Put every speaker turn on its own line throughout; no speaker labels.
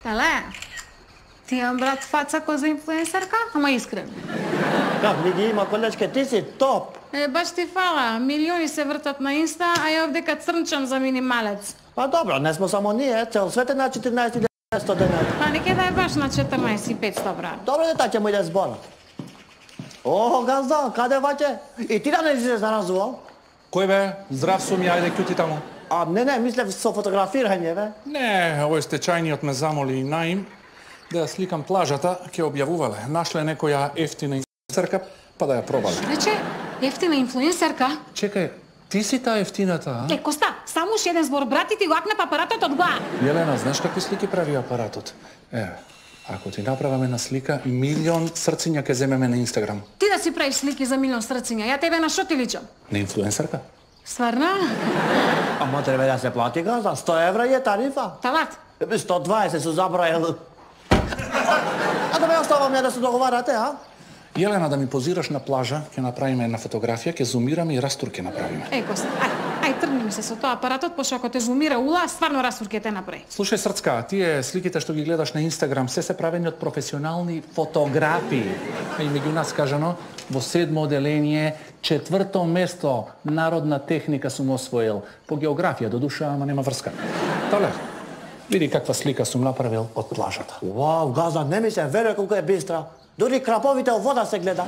Тале, ти имам брат фаца ко за инфлуенсерка, ама искрено.
Как ми ги има, колечке, ти си топ.
Баш ти фала, милиони се вртат на Инста, а ја овдека црнчам за минималец.
Па добро, не сме само ние, цел свет е на 14.900 денари.
Па неке да е баш на 14.500, брат.
Добро дета ќе му иде зборот. О, газда, каде ваќе? И ти да не излезеш на разговор?
Кој бе? Здрав сум, ја ајде кјути таму.
Не, мислев со фотографирање, бе.
Не, овој стечајниот ме замоли наим да ја сликам плажата, ќе објавувале. Нашле некоја ефтина инфлуенсерка, па да ја пробале.
Рече, ефтина инфлуенсерка?
Чекај, ти си таа ефтината, а?
Коста, само уште еден збор, брат, и ти го акне апаратот од глава.
Јелена, знаеш какви слики прави апаратот? Ако ти направаме една слика, 1.000.000 срциња ќе земеме на Инстаграм.
Ти да си правиш слики за 1.000.000 срциња, ја тебе на шо ти личам?
На инфлуенсерка?
Стварно?
Ама треба да се плати газда, 100 евра е тарифа.
Талат?
120 се забрајал. А да ме оставам ја да се договарате, а?
Јелена, да ми позираш на плажа, ќе направиме една фотографија, ќе зумираме и растур ќе направиме.
Коста, ај тргни ми се со тоа апаратот, пошто ако те зумира ула, стварно растур ќе те направи.
Слушај, Срцка, тие сликите што ги гледаш на Инстаграм се правени од професионални фотографи. И меѓу нас кажано, во 7 оделение, 4 место народна техника сум освоил. По географија, до душа, ама нема врска. Тале, види каква слика сум направил од плажата.
Вау, газда, не ми се верува колку е бистра. Дури краповите од вода се гледа.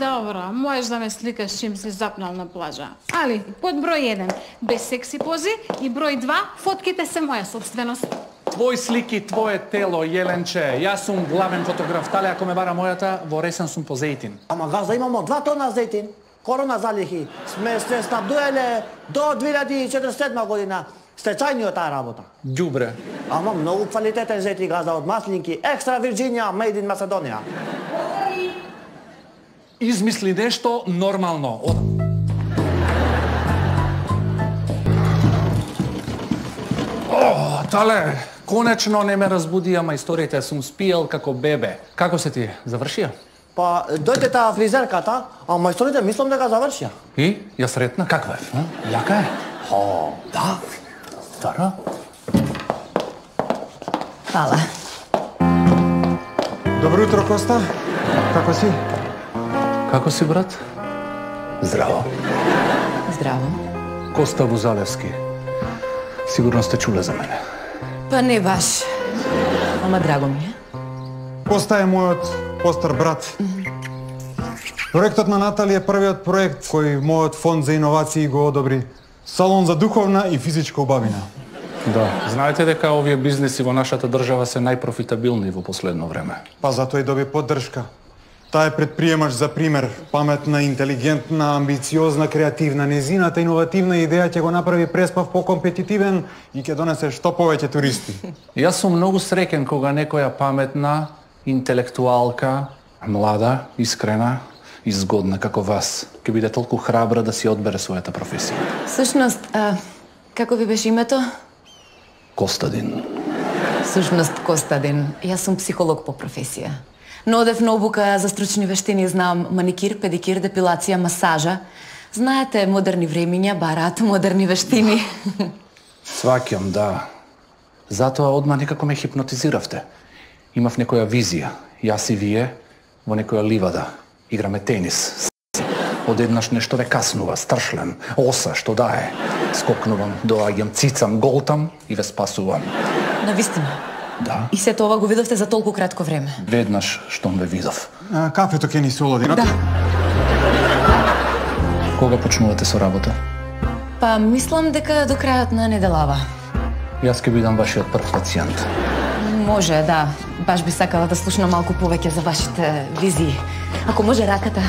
Добро, можеш да ме сликаш чим си запнал на плажа. Али, под број 1, без секси пози, и број 2, фотките се моја собственост.
Твој слики, твое тело, Јеленче. Јас сум главен фотограф. Тале, ако ме бара мојата, во ресен сум по зејтин.
Ама газда, имамо 2 тона зејтин. Корона залихи. Сме се снабдуеле до 2047 година. Стечајниот таа работа.
Ѓубре.
Ама многу квалитетен зејтин, газда, од маслинки. Екстра Вирџинија, made in Macedония.
Измисли нешто нормално. Тале, конечно не ме разбуди, ама историјата сум спиел како бебе. Како се ти? Завршија?
Па, дојде таа фризерката, ама историјата мислам дека завршија.
И? Ја сретна? Каква е? Јака е? Да. Стара?
Фала.
Добро утро, Коста. Како си?
Како си, брат? Здраво.
Здраво.
Коста Бузалевски. Сигурно сте чуле за мене.
Па не баш. Ама драго ми е.
Коста е мојот постар брат. Проектот на Натали е првиот проект кој мојот фонд за иновации го одобри. Салон за духовна и физичка убавина.
Да, знаете дека овие бизнеси во нашата држава се најпрофитабилни во последно време.
Па затоа и доби поддршка. Таа е предприемач за пример, паметна, интелигентна, амбициозна, креативна. Незината иновативна идеја ќе го направи Преспав покомпетитивен и ќе донесе што повеќе туристи.
Јас сум многу среќен кога некоја паметна, интелектуалка, млада, искрена и згодна како вас ќе биде толку храбра да си одбере својата професија.
Сушност, како ви беше името?
Костадин.
Сушност Костадин. Јас сум психолог по професија. Но одев на обука за стручни вештини, знам маникир, педикир, депилација, масажа. Знаете, модерни времиња бараат модерни вештини.
Сваќам, да. Затоа одма некако ме хипнотизиравте. Имав некоја визија. Јас и вие во некоја ливада. Играме тенис. Одеднаш нешто ве каснува, страшлен. Оса, што дае. Скокнувам, доаѓам, цицам, голтам и ве спасувам.
Навистина?
Да.
И сето ова го видовте за толку кратко време?
Веднаш штом ве видов.
Кафето ќе ни се олади,
Да.
Кога почнувате со работа?
Па мислам дека до крајот на неделава.
Јас ќе бидам вашиот прв пациент.
Може, да. Баш би сакала да слушнам малку повеќе за вашите визии. Ако може раката.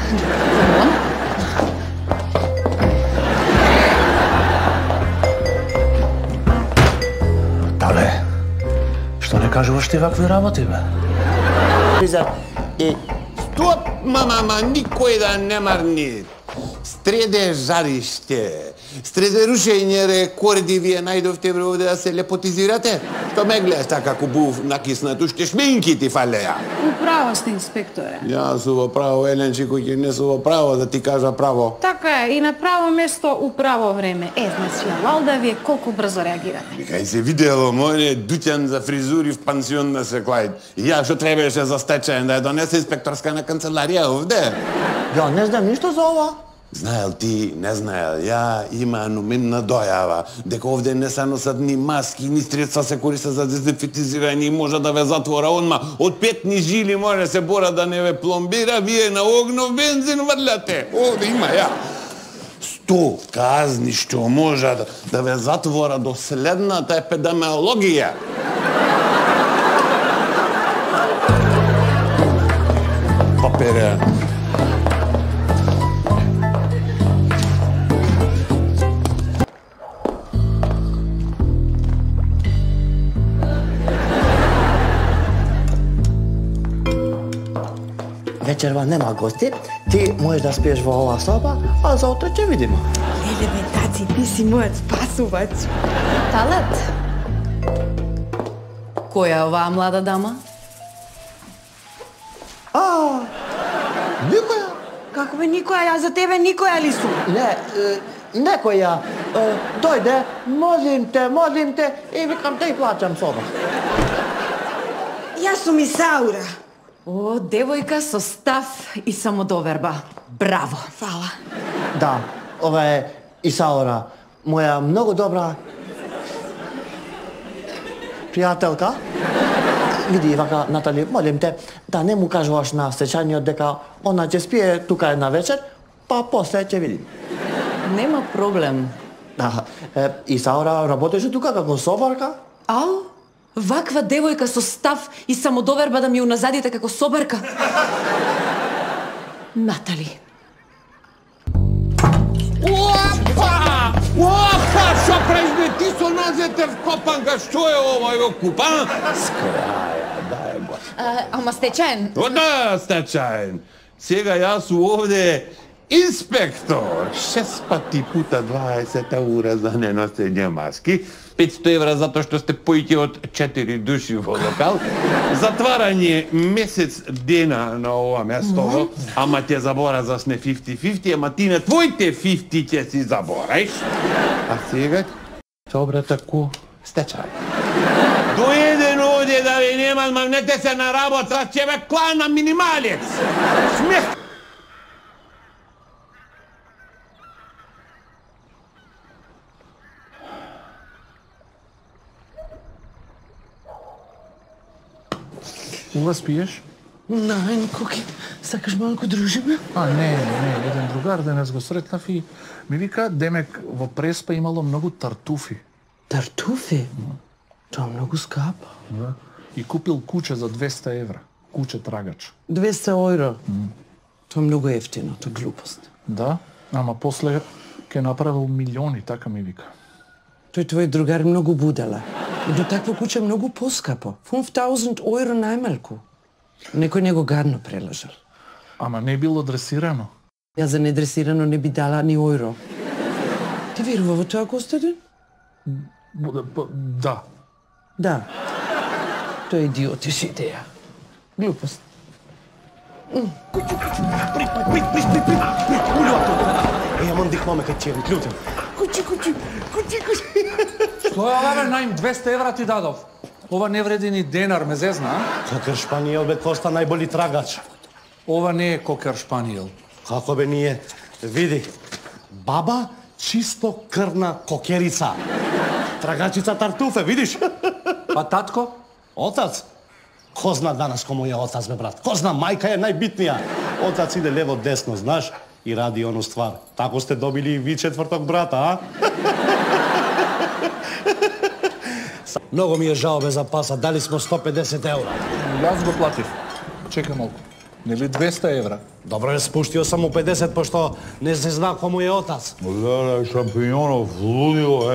Тале, што не кажуваш ти вакви работи, бе?
Фризер и
Стоп, мама, никој да не марни. Стреде жариште. Стрeze рушење рекорди вие најдовте овде да се лепотизирате? Што ме гледаш така кубув накиснат, уште шминки ти фалеа.
Управо сте, инспекторе.
Јас сум во право, Еленчи, кој ќе не сум во право, да ти кажа право.
Така е, и на право место у право време. Значи, Лалда, вие колку брзо реагирате?
Кај се видело, моје дуќан за фризури в пансион на Секлајд. И ја што требаше за стечаен да ја донесе инспекторска на канцеларија овде?
Ја не знам ништо за ова.
Знаел ти, не знаел, ја има ануменна дојава, дека овде не се носат ни маски, ни средства се користат за дезинфектизирање и може да ве затвора одма. Од петни жили може се бора да не ве пломбира, вие на огнов бензин врляте. Овде има ја. 100 казни што може да ве затвора до следната епидемиологија. Папере.
Вечерва нема гости, ти можеш да спиеш во оваа соба, а за утре ќе видиме.
Леле, бе, таци, ти си мојот спасувач.
Талат? Која е оваа млада дама?
Никоја?
Како бе никоја, ја за тебе никоја ли сум?
Не, некоја. Дојде, молим те, и викам те и плачам соба.
Јас сум Исаура.
О, девојка со став и самодоверба. Браво!
Фала.
Да, ова е Исаура, моја многу добра пријателка. Види, вака, Натали, молим те, да не му кажуваш на стечаниот дека она ќе спие тука една вечер, па после ќе видим.
Нема проблем.
Да, Исаура работеше тука како собарка.
Ау? Ваква девојка со став и самодоверба да ми уназадите како собарка? Натали.
Опа! Опа! Што правиш, ти со нозете вкопанка, што е ова, го купа? Скраја, дај го.
Ама стечаен.
О, да, стечаен. Сега јас овде инспектор. 6 пати пута 20 евра за неносење маски, 500 евра затоа што сте поиќе од 4 души во локал, затварање месец дена на ова место, ама ќе заборазаш не 50-50, ама ти на твоите 50 ќе си забораиш. А сега се обрата ку стечај. Доеден овде да ви нема, мамнете се на работа, ќе ве клана минималец. Смех!
Ува спиеш?
Најн, Коки, сакаш малку дружиме?
Не, еден другар денес го сретнав и ми вика, демек во Преспа имало многу тартуфи.
Тартуфи? Тоа е многу скапо.
Да. И купил куче за 200 евра. Куче трагач.
200 евро? Тоа е многу ефтино, тоа е глупост.
Да, ама после ке направил милиони, така ми вика.
Тој твој другар многу будела. Но такво куче е многу поскапо. 5000 евро најмалку. Некој него гадно прелажал.
Ама не било дресирано.
Ја за недресирано не би дала ни евро. Ти верува во тоа, Костадин?
Да.
Да. Тоа е идиотиш идеја. Глупост.
Јамам дикмаме кај ќе клютен. Кучи.
Што е ова, бе, наим 200 евра ти дадов? Ова не вреди ни денар, ме зезна, а?
Кокер Шпаниел, бе, Коста, најболи трагач.
Ова не е Кокер Шпаниел.
Како бе ние? Види, баба чисто крвна кокерица. Трагачица тартуфе, видиш?
А татко?
Отац? Ко зна данас кој му е отац, бе, брат? Ко зна, мајка е најбитнија. Отац иде лево-десно, знаш? И ради ону ствар. Тако сте добили и ви четврток брата, а? Многу ми е жал бе за паса, дали смо 150 евра.
Јас го платив. Чекай малку. Нели 200 евра?
Добро е, спуштио сам му 50, пошто не се зна кому е отац.
Гледај, шампиньонов, лудило,